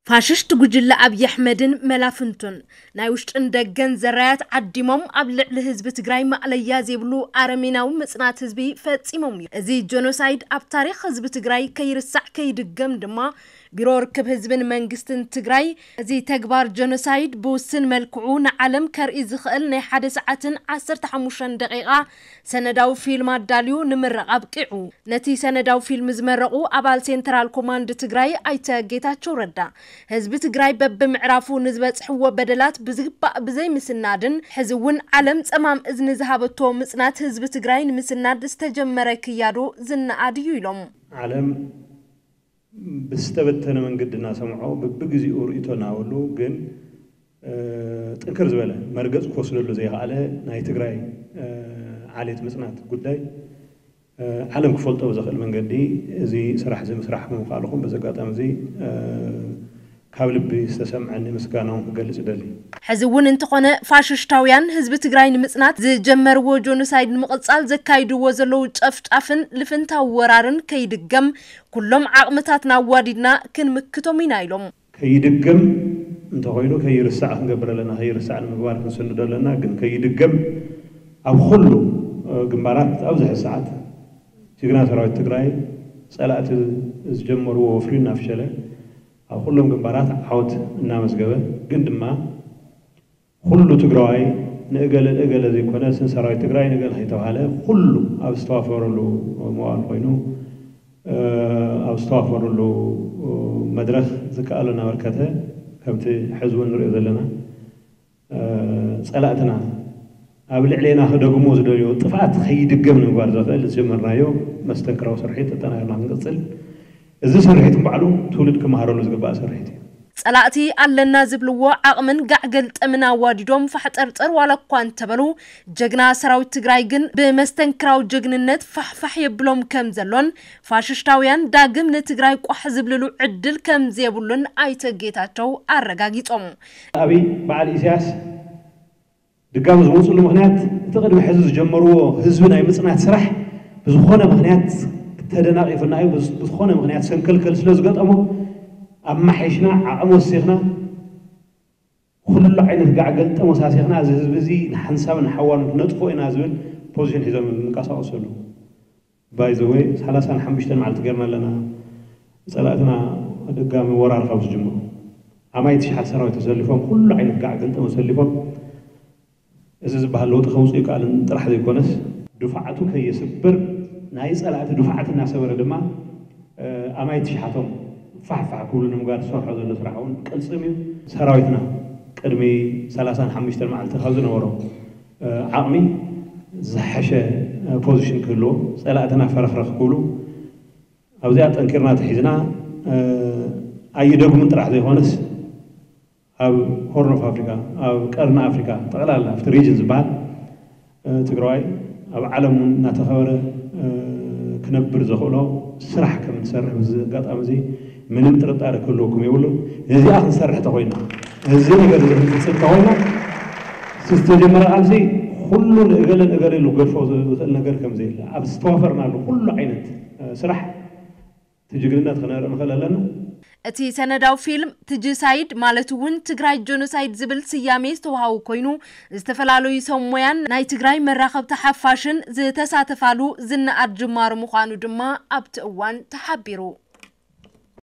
ፋሽስት ጉጅለ ኣብይ ኣሕመድን መላፍንቱን ናይ ውሽጥን ደገን ዘራያት ዓዲሞም ኣብ ልዕሊ ህዝቢ ትግራይ ማእለያ ዘይብሉ ኣረሜናዊ ምጽናት ህዝቢ ፈጺሞም እዩ። እዚ ጀኖሳይድ ኣብ ታሪኽ ህዝቢ ትግራይ ከይርሳዕ ከይድገም ድማ ቢሮ ርክብ ህዝብን መንግስትን ትግራይ እዚ ተግባር ጀኖሳይድ ብውስን መልክዑ ንዓለም ከርኢ ዝኽእል ናይ ሓደ ሰዓትን ዓሰርተ ሓሙሽተ ደቂቓ ሰነዳዊ ፊልም ኣዳልዩ ንምረቕ ኣብቂዑ። ነቲ ሰነዳዊ ፊልም ዝመረቑ ኣባል ሴንትራል ኮማንድ ትግራይ ኣይተ ጌታቸው ረዳ፣ ህዝቢ ትግራይ በብምዕራፉ ንዝበፅሕዎ በደላት ብዝግባእ ብዘይምስናድን ሕዚ እውን ዓለም ፀማም እዝኒ ዝሃበቶ ምፅናት ህዝቢ ትግራይ ንምስናድ ዝተጀመረ ክያዶ ዝነኣድ እዩ ኢሎም። ዓለም ብዝተበተነ መንገዲ እናሰምዖ ብብግዚኡ ርእይቶ እናበሉ ግን ጥንክር ዝበለ መርገፅ ክወስደሉ ዘይከኣለ ናይ ትግራይ ዓሌት ምፅናት ጉዳይ ዓለም ክፈልጦ ብዘኽእል መንገዲ እዚ ስራሕ እዚ ምስራሕ ምምኻልኹም በዚ ኣጋጣሚ እዚ ካብ ልቢ ዝተሰምዐኒ ምስጋናውን ክገልፅ እደሊ። ሕዚ እውን እንተኾነ ፋሽሽታውያን ህዝቢ ትግራይ ንምፅናት ዝጀመርዎ ጆኖሳይድ ንምቕፃል ዘካይድዎ ዘለዉ ጨፍጫፍን ልፍንታዊ ወራርን ከይድገም ኩሎም ዓቕምታትና ኣዋዲድና ክንምክቶም ኢና ኢሎም። ከይድገም እንተኾይኑ ከይርሳዕ ክንገብር ኣለና፣ ከይርሳዕ ንምግባር ክንስንዶ ኣለና። ግን ከይድገም ኣብ ኩሉ ግንባራት ኣብዚ ሕዚ ሰዓት ጅግና ሰራዊት ትግራይ ፀላእቲ ዝጀመርዎ ወፍሪ እናፍሸለ ኣብ ኩሎም ግንባራት ዓወት እናመዝገበ ግን ድማ ኩሉ ትግራዋይ ንእገለ ንእገለ ዘይኮነ ስን ሰራዊት ትግራይ ንእገለ ከይተባሃለ ኩሉ ኣብ ዝተዋፈረሉ መዋል ኮይኑ ኣብ ዝተዋፈረሉ መድረክ ዝከኣሎ እናበርከተ ከምቲ ሕዚ እውን ንሪኦ ዘለና ፀላእትና ኣብ ልዕሌና ክደግሞ ዝደልዮ ጥፍኣት ከይድገም ንምግባር ዘኽእል ዝጀመርናዮ መስተንክራዊ ስርሒት ኣጠናኺርና ክንቅፅል እዚ ስርሒት ንባዕሉ ትውልድ ክመሃረሉ ዝግባእ ስርሒት እዩ። ፀላእቲ ኣለና ዝብልዎ ዓቕምን ጋዕ ገልጠምን ኣዋዲዶም ፋሕጠርጠር ዋላ እኳ እንተበሉ ጀግና ሰራዊት ትግራይ ግን ብመስተንክራዊ ጀግንነት ፋሕፋሕ የብሎም ከም ዘሎን ፋሽሽታውያን ዳግም ንትግራይ ቋሕ ዝብልሉ ዕድል ከም ዘየብሉን ኣይተ ጌታቸው ኣረጋጊጾም። ኣብይ በዓል ኢሳያስ ድጋሚ ዝመፅሉ ምኽንያት እቲ ቅድሚ ሕዚ ዝጀመርዎ ህዝቢ ናይ ምፅናት ስራሕ ብዝኾነ ምኽንያት ተደናቒፉና እዩ። ብዝኾነ ምኽንያት ሰንከልከል ስለ ዝገጠሞ ኣማሓይሽና ዓቕሚ ወሲኽና ኩሉ ዓይነት ጋዕ ገልጠም ወሳሲኽና እዚ ህዝቢ እዚ ንሓንሳብን ንሓዋሩን ክነጥፍኦ ኢና ዝብል ፖዚሽን ሒዞም ዝንቀሳቐሱ ኣለዉ። ባይ ዘ ወይ ሰላሳን ሓሙሽተን መዓልቲ ገርና ኣለና ፀላእትና ድጋሚ ወራር ካብ ዝጅምሩ ኣማይ ትሽሓት ሰራዊት ተሰሊፎም ኩሉ ዓይነት ጋዕ ገልጠም ኣሰሊፎም እዚ ዝበሃል ለውጢ ከውፅእ ይከኣልን ጥራሕ ዘይኮነስ ድፋዓቱ ከየስብር ናይ ፀላእቲ ድፋዓት እናሰበረ ድማ ኣማይ ትሽሓቶም ፋሕፋሕ ክብሉ ንምግባር ዝሰርሖ ዘሎ ስራሕ እውን ቅልፅም እዩ። ሰራዊትና ቅድሚ ሰላሳን ሓሙሽተን መዓልቲ ካብ ዝነበሮ ዓቕሚ ዝሓሸ ፖዚሽን ክህልዎ ፀላእትና ፈረኽረኽ ክብሉ ኣብዚኣ ጠንኪርና ተሒዝና ኣይደግሙን ጥራሕ ዘይኮነስ ኣብ ሆርን ኦፍ ኣፍሪካ ኣብ ቀርኒ ኣፍሪካ ጠቕላላ ኣብቲ ሪጅን ዝበሃል ትግራዋይ ኣብ ዓለም እውን እናተኸበረ ክነብር ዘኽእሎ ስራሕ ከም ንሰርሕ በዚ ኣጋጣሚ እዚ ምንም ጥርጣረ ክህልወኩም የብሉን። ነዚኣ ክንሰርሕ ተኮይና እዚ ነገር እዚ ክንፍፅም ተኮይና ዝተጀመረ ቃልሲ ኩሉ ንእገለ ንእገለ ኢሉ ክገድፎ ዝኽእል ነገር ከም ዘየለ ኣብ ዝተዋፈርናሉ ኩሉ ዓይነት ስራሕ እቲ ጅግንነት ክነርኢ ንኽእል ኣለና። እቲ ሰነዳዊ ፊልም ትጅሳይድ ማለት እውን ትግራይ ጆኖሳይድ ዝብል ስያሜ ዝተዋሃቡ ኮይኑ ዝተፈላለዩ ሰብ ሞያን ናይ ትግራይ መራኸብቲ ሓፋሽን ዝተሳተፋሉ ዝነኣድ ጅማሮ ምዃኑ ድማ ኣብቲ እዋን ተሓቢሩ።